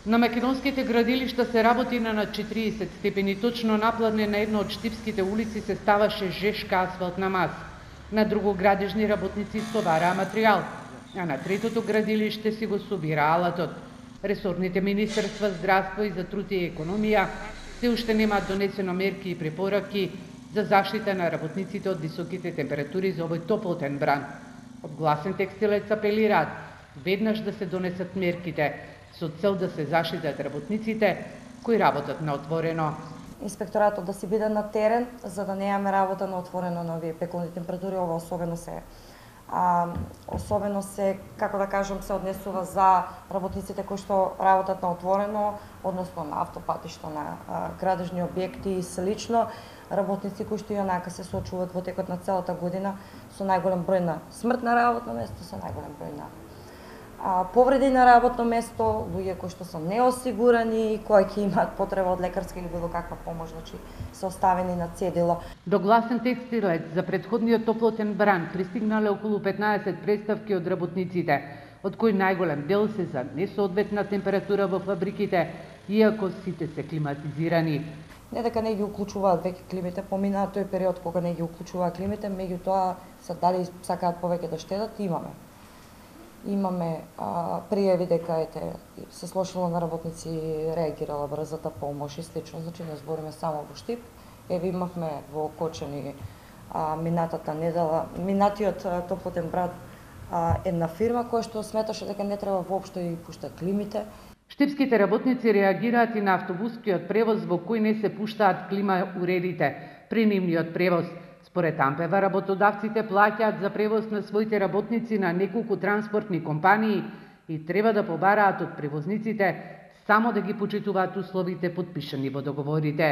На македонските градилишта се работи на 40 степени, точно напладне на едно од штипските улици се ставаше жешка асфалтна маса. На друго градежни работници стовараа материјал, а на третото градилиште си го собира алатот. Ресорните министерства здравство и за труд и економија се уште немаат донесено мерки и препораки за заштита на работниците од високите температури за овој топлотен бран. Од Гласен текстилец апелираат веднаш да се донесат мерките со цел да се заштитат работниците кои работат на отворено. Инспекторатот да си биде на терен за да немаме работа на отворено на овие пеколни температури, ова особено се, како да кажам, се однесува за работниците кои што работат на отворено, односно на автопатишта, на градежни објекти и слично, работници кои што и онака се соочуваат во текот на целата година со најголем број на смрт на работно место, со најголем број на повреди на работно место, луѓе кои што се неосигурани и кои ќе имаат потреба од лекарска или било каква помош, значи се оставени на цедило. До Гласен текстилец за претходниот топлотен бран пристигнале околу 15 представки од работниците, од кои најголем дел се за несоодветна температура во фабриките, иако сите се климатизирани. Не дека не ги уклучуваат веќе климите, поминаа тој период кога не ги уклучуваа климите, меѓутоа се дали сакаат повеќе да штедат, Имаме пријави дека се слошило на работници, реагирала брзата помош и слично, значи не збориме само во Штип. Имавме во Кочани минатата недела, минатиот топлотен бран една фирма која што сметаше дека не треба воопшто и пушта климите. Штипските работници реагираат и на автобускиот превоз во кој не се пуштаат клима уредите при нивниот превоз. Според Ампева, работодавците плаќаат за превоз на своите работници на неколку транспортни компании и треба да побараат од превозниците само да ги почитуваат условите потпишани во договорите.